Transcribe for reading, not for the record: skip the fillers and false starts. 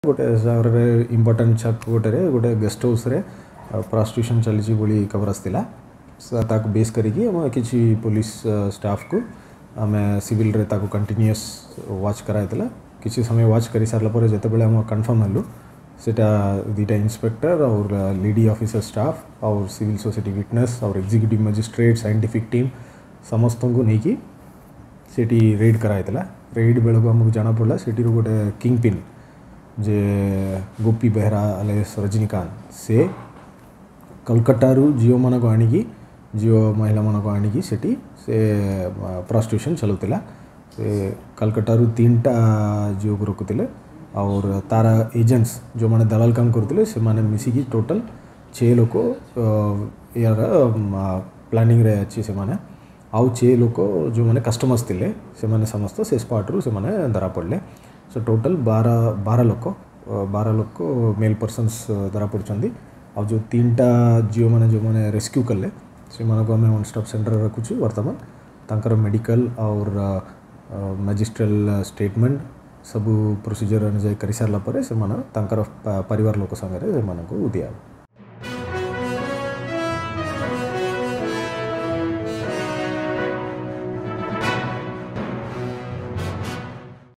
ଗୋଟେ ସହରରେ ଇମ୍ପୋର୍ଟାଣ୍ଟ ଛକ ଗୋଟେରେ ଗୋଟେ ଗେଷ୍ଟ ହାଉସ୍ରେ ପ୍ରଷ୍ଟିଟ୍ୟୁସନ୍ ଚାଲିଛି ବୋଲି ଖବର ଆସିଥିଲା। ତାକୁ ବେସ୍ କରିକି ଆମେ କିଛି ପୋଲିସ ଷ୍ଟାଫ୍କୁ ଆମେ ସିଭିଲରେ ତାକୁ କଣ୍ଟିନ୍ୟୁଅସ୍ ୱାଚ୍ କରାଯାଇଥିଲା। କିଛି ସମୟ ୱାଚ୍ କରିସାରିଲା ପରେ ଯେତେବେଳେ ଆମେ କନଫର୍ମ ହେଲୁ, ସେଟା 2ଟା ଇନ୍ସପେକ୍ଟର ଆଉ ଲେଡି ଅଫିସର ଷ୍ଟାଫ୍ ଆଉ ସିଭିଲ୍ ସୋସାଇଟି ୱିଟନେସ୍ ଆଉ ଏକ୍ଜିକ୍ୟୁଟିଭ୍ ମାଜିଷ୍ଟ୍ରେଟ୍, ସାଇଣ୍ଟିଫିକ୍ ଟିମ୍ ସମସ୍ତଙ୍କୁ ନେଇକି ସେଠି ରେଡ୍ କରାଯାଇଥିଲା। ରେଡ୍ ବେଳକୁ ଆମକୁ ଜଣାପଡ଼ିଲା ସେଠିରୁ ଗୋଟେ କିଙ୍ଗ ପିନ୍ ଯେ ଗୋପୀ ବେହେରା ଆଲିଆସ୍ ରଜନୀକାନ୍ତ, ସେ କୋଲକାତାରୁ ଝିଅମାନଙ୍କୁ ଆଣିକି, ଝିଅ ମହିଳାମାନଙ୍କୁ ଆଣିକି ସେଠି ସେ ପ୍ରଷ୍ଟିଟ୍ୟୁସନ୍ ଚଲାଉଥିଲା। ସେ କୋଲକାତାରୁ 3ଟା ଝିଅକୁ ରଖୁଥିଲେ ଆଉ ତାର ଏଜେଣ୍ଟସ୍ ଯେଉଁମାନେ ଦଲାଲ କାମ କରୁଥିଲେ, ସେମାନେ ମିଶିକି ଟୋଟାଲ୍ 6 ଲୋକ ୟାର ପ୍ଲାନିଂରେ ଅଛି ସେମାନେ। ଆଉ 6 ଲୋକ ଯେଉଁମାନେ କଷ୍ଟମର୍ସ ଥିଲେ, ସେମାନେ ସମସ୍ତ ସେ ସ୍ପଟ୍ରୁ ସେମାନେ ଧରା ପଡ଼ିଲେ। ସୋ ଟୋଟାଲ୍ 12 ଲୋକ, 12 ଲୋକ ମେଲ୍ ପର୍ସନ୍ସ ଧରା ପଡ଼ିଛନ୍ତି। ଆଉ ଯେଉଁ 3ଟା ଝିଅମାନେ ଯେଉଁମାନେ ରେସ୍କ୍ୟୁ କଲେ, ସେମାନଙ୍କୁ ଆମେ ୱାନ୍ ଷ୍ଟପ୍ ସେଣ୍ଟରରେ ରଖୁଛୁ। ବର୍ତ୍ତମାନ ତାଙ୍କର ମେଡ଼ିକାଲ ଆଉ ମାଜିଷ୍ଟ୍ରିଆଲ ଷ୍ଟେଟମେଣ୍ଟ ସବୁ ପ୍ରୋସିଜର ଅନୁଯାୟୀ କରିସାରିଲା ପରେ ସେମାନେ ତାଙ୍କର ପରିବାର ଲୋକ ସାଙ୍ଗରେ ସେମାନଙ୍କୁ ଦିଆହେବ।